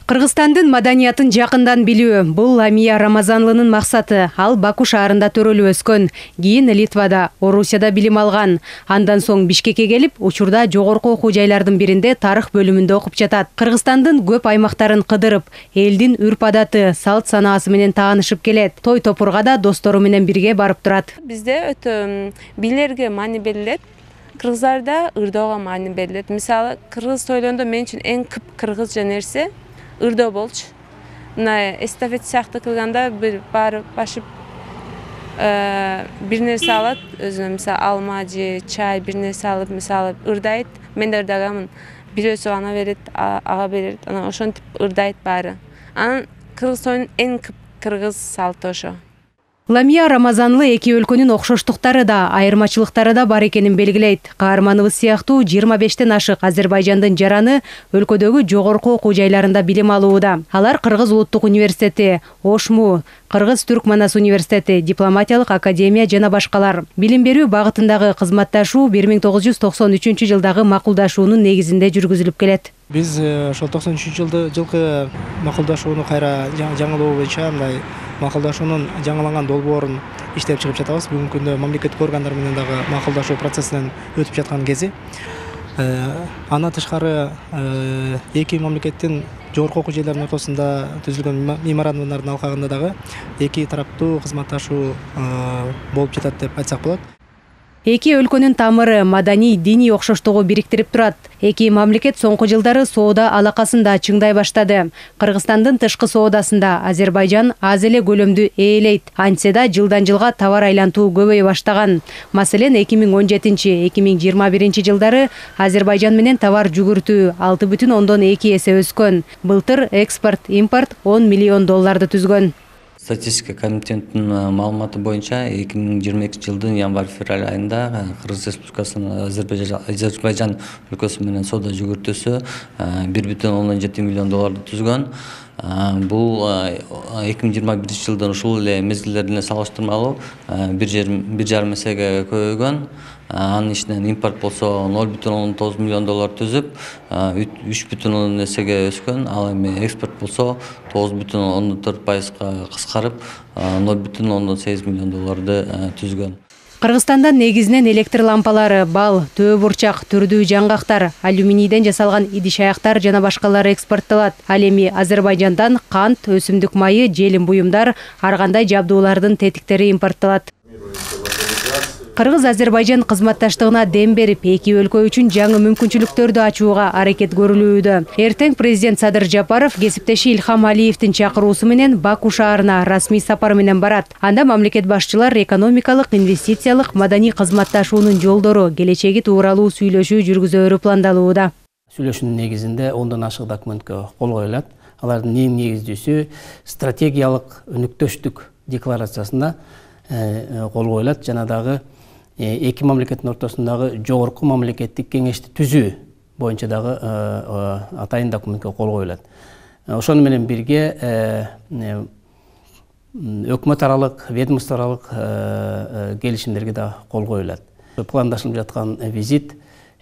Кыргызстандын маданиятын жакындан билүү — бул Ламия Рамазанлынын максаты. Ал Баку шаарында төрөлүп өскөн, кийин Литвада, Орусияда билим алган. Андан соң Бишкекке келип, учурда жогорку окуу жайлардын биринде тарых бөлүмүндө окуп жатат. Кыргызстандын көп аймактарын кыдырып, элдин үрп-адаты, салт санаасы менен таанышып келет. Той топурга да достору менен бирге барып турат. Бизде өтө бийлерге маани берилет. Кыргыздарда ырдоого маани берилет. Мисалы, кыргыз тойлондо мен үчүн эң көп кыргызча нерсе ырдоо болчу. Мына эстафет сыяктуу кылганда бир барып башып бир нерсе алат, өзүнө мисалы алма же чай бир нерсе алып, мисалы ырдайт. Мен да ырдаганмын. Бирөөсү ана берет, ага берет, анан ошентип ырдайт баары. Анан кыргыз тоюнун эң көп кыргыз салты ошо. Ламия Рамазанлы эки өлкөнүн окшоштуктары да, айырмачылыктары да бар экенин белгилейт. Каарманыбыз сыяктуу 25тен ашык Азербайжандын жараны өлкөдөгү жогорку окуу жайларында билим алууда. Алар Кыргыз улуттук университети, ОШМУ, Кыргыз-Түрк Манас университети, дипломатиялык академия жана башкалар. Билим берүү багытындагы кызматташуу 1993 жылдагы макулдашуунун негизинде жүргүзүлүп келет. Биз ошол 93 жылкы макулдашууну кайра жаңылоо боюнча мындай макулдашуунун жаңыланган долбоорун иштеп чыгып жатабыз. Бүгүнкү күндө мамлекеттик органдар менен дагы макулдашуу процессинен өтүп жаткан кези. Андан тышкары эки мамлекеттин жогорку окуу жайларынын ортосунда түзүлгөн меморандумдардын алкагында дагы эки тараптуу кызматташуу болуп жатат деп айтсак болот. Эки өлкөнүн тамыры, маданий, диний окшоштугу бириктирип турат. Эки мамлекет соңку жылдары соода алакасын да чыңдай баштады. Кыргызстандын тышкы соодасында Азербайжан аз эле көлөмдү ээлейт. Антсе да жылдан жылга товар айлантуу көбөйө баштаган. Маселен, 2017-2021 жылдары Азербайжан менен товар жүгүртүү 6,2 эсе өскөн. Былтыр экспорт, импорт $10 миллион түзгөн. Статистика комитетинин маалыматы боюнча 2022 жылдын январь-февраль айында Кыргыз Республикасынын Азербайжан өлкөсү менен соода жүгүртүүсү $1,7 миллион түзгөн. Бул 2021 жылдын ушул эле мезгилдерине салыштырмалуу 1,5 эсеге көбөйгөн. Анын ичинен импорт болсо $0,9 миллион түзүп, 3,1 эсеге өскөн. Ал эми экспорт болсо 9,4% кыскарып, $0,8 миллион түзгөн. Кыргызстанда негизинен электр лампалары, бал, төө бурчак, түрдүү жаңгактар, алюминийден жасалган идиш-аяктар жана башкалары экспорттолот. Ал эми Азербайжандан кант, өсүмдүк майы, желим буюмдар, ар кандай жабдуулардын тетиктери импорттолот. Кыргыз-Азербайжан кызматташтыгына дем берип, эки өлкө үчүн жаңы мүмкүнчүлүктөрдү ачууга аракет көрүлүүдө. Эртең президент Садыр Жапаров кесиптеши Илхам Алиевдин чакыруусу менен Баку шаарына расмий сапар менен барат. Анда мамлекет башчылар экономикалык, инвестициялык, маданий кызматташуунун жолдору, келечеги тууралуу сүйлөшүү жүргүзөөрү пландалууда. Сүйлөшүүнүн негизинде 10дон ашык документке кол коюлат. Алардын эң негиздүүсү стратегиялык өнүктөштүк декларациясына кол коюлат жана дагы эки мамлекеттин ортосундагы жогорку мамлекеттик кеңешти түзүү боюнча дагы атайын документке кол коюлат. Ошону менен бирге өкмөт аралык, ведомство аралык келишимдерге да кол коюлат. Пландашылып жаткан визит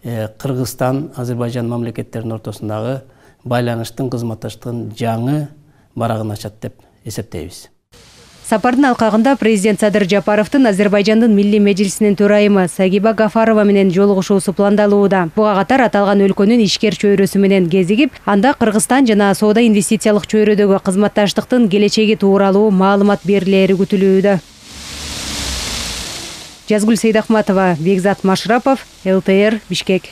Кыргызстан, Азербайжан мамлекеттеринин ортосундагы байланыштын, кызматташтыгын жаңы барагын ачат деп эсептейбиз. Сапардын алкагында президент Садыр Жапаровдун Азербайжандын Милли Мejlisинин төрайымы Сагиба Гафарова менен жолугушуусу пландалууда. Буга катар аталган өлкөнүн ишкер чөйрөсү менен кезигип, анда Кыргызстан жана соода инвестициялык чөйрөдөгү кызматташтыктын келечеги тууралуу маалымат берилери күтүлүүдө. Жазгүл Сейдахматова, Бекзат Машрапов, ЛТР, Бишкек.